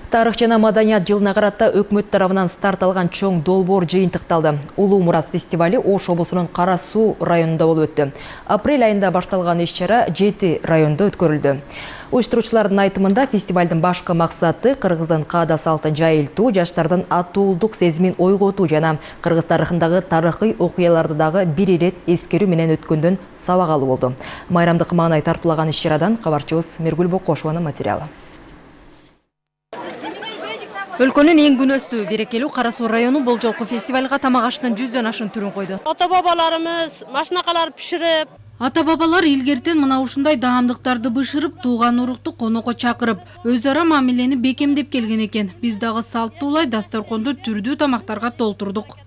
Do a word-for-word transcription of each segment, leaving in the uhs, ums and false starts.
Тарых жана маданият жылына карата өкмөт тарабынан старт алган чоң долбоор жыйынтыкталды. Улуу Мурас фестивали Ош облусунун Кара Суу районунда болуп өттү. Апрель айында башталган иш-чара жети районда өткөрүлдү. Уюштуруучулардын айтымында фестивалдын башкы максаты кыргыздын каада салтын жайылтуу, жаштардын атуулдук сезимин ойготуу жана кыргыз тарыхындагы тарыхый окуяларды дагы бир ирет эскерүү менен өткөндөн сабак алуу болду. Майрамдык маанай тартуулаган иш-чарадан кабарчыбыз Миргүл Бокошованын материалы. Өлкөнүн эң күнөстүү берекелүү Кара Суу району бул жолку фестивалга тамак аштын жүздөн ашын түрүн койду. Ата-бабаларыбыз машинакалар биширип, ата-бабалар илгертен мына ушундай даамдыктарды бышырып, тууган урукту конокко чакырып, өз ара мамилени бекемдеп келген экен. Биз дагы салттуулай дасторконду түрдүү тамактарга толтурдук.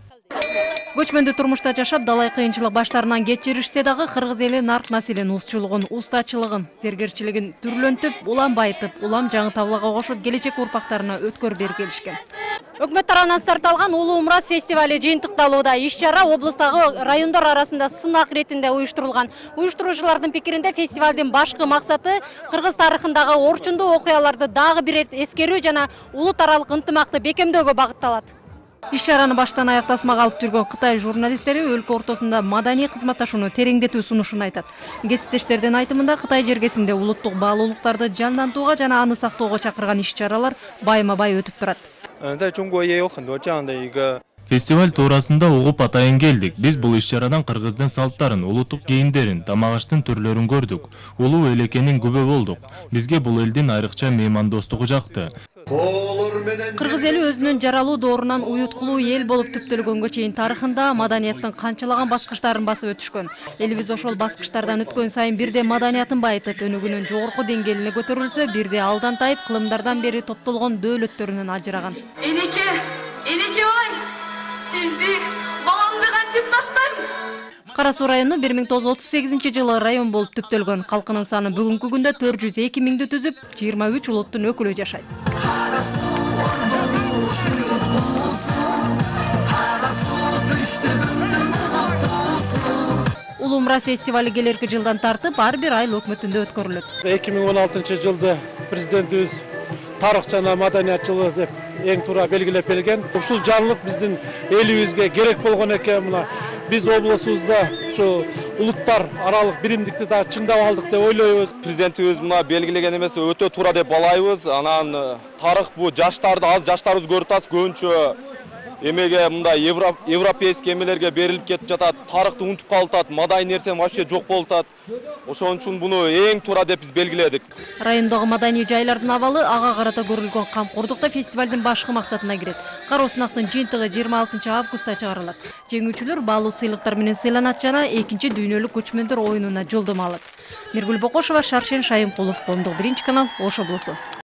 Көчмөндүү турмушта жашап, далай кыйынчылык баштарынан кечиришсе дагы кыргыз эли нарк населин узчулугун, устачылыгын, зергерчилигин түрлөнтүп, улам байытып, улам жаңы табылага кошуп, келечек урпактарына өткөр бери келишкен. өкмөт тарабынан старт алган Улуу Мурас фестивали жыйынтыкталууда. Иш-чара облустагы райондор арасында сынак ретинде уюштурулган. Уюштуруучулардын пикиринде фестивалдын башкы максаты кыргыз тарыхындагы орчундуу окуяларды дагы бир эскерүү жана улут аралык ынтымакты бекемдөөгө багытталат. Иш-чараны баштан аяк тасмага алып жүргөн Кытай журналисттери өлкө ортосунда маданий кызматташууну тереңдетүү сунушун айтат. Кесиптештердин айтымында Кытай жергесинде улуттук баалуулуктарды жандантууга жана аны сактоого чакырган иш-чаралар байма-бай өтүп турат. Фестиваль туурасында угуп атайын келдик. Биз бул иш-чарадан кыргыздын салттарын, улуттук кийимдерин, тамак аштын түрлөрүн көрдүк. Улуу эл экенин күбө болдук. Бизге бул элдин айрыкча меймандостугу жакты. Кыргыз эли өзүнүн жаралуу доорунан уюткулуу эл болуп түптөлгөнгө чейин тарыхында маданияттын канчалаган баскычтарын басып өтүшкөн. Элибиз ошол баскычтардан өткөн сайын бирде маданиятын байытып, өнүгүүнүн жогорку деңгээлине көтөрүлсө, бирде алдан тайып, кылымдардан бери топтолгон дөөлөттөрүнөн ажыраган. Энеке, энеке бай, сизди баламды кантип таштайм? Кара Суу району бир миң тогуз жүз отуз сегизинчи жылы район болуп түптөлгөн. Калкынын саны бүгүнкү күндө төрт жүз эки миңди түзүп, жыйырма үч улуттун өкүлү жашайт. Улуу Мурас фестивали келерки жылдан тартып ар бир айыл өкмөтүндө өткөрүлөт. эки миң он алтынчы жылды президентибиз тарых жана маданият жылы деп эң туура белгилеп берген. Ушул жаңылык биздин элибизге керек болгон экен. Мына биз облусубузда ушу улуттар аралык биримдикти да чыңдап алдык деп ойлойбуз. Президентибиз мына белгилеген эмес өтө туура деп балайбыз. Анан тарых бу жаштарды аз жаштарыбыз көрүп атат, көбүнчө эмеге мындай европейский эмелерге берилип кетип жатат, тарыхты унутуп калып, мадай нерсе вообще жок болуп атат. Ошон үчүн буну эң туура деп биз белгиледик. Райондогу маданий жайлардын абалы ага карата көрүлгөн камкордукта фестивалдын башкы максатына кирет. Кароо сынактын жыйынтыгы жыйырма алтынчы августта чыгарылат. Жеңүүчүлөр баалуу сыйлыктар менен сыйланат жана экинчи дүйнөлүк көчмөндөр оюнуна жолдомо алат. Миргүл Бокошова, Шаршен Шайымкулов, Коомдук биринчи канал, Ош облусу.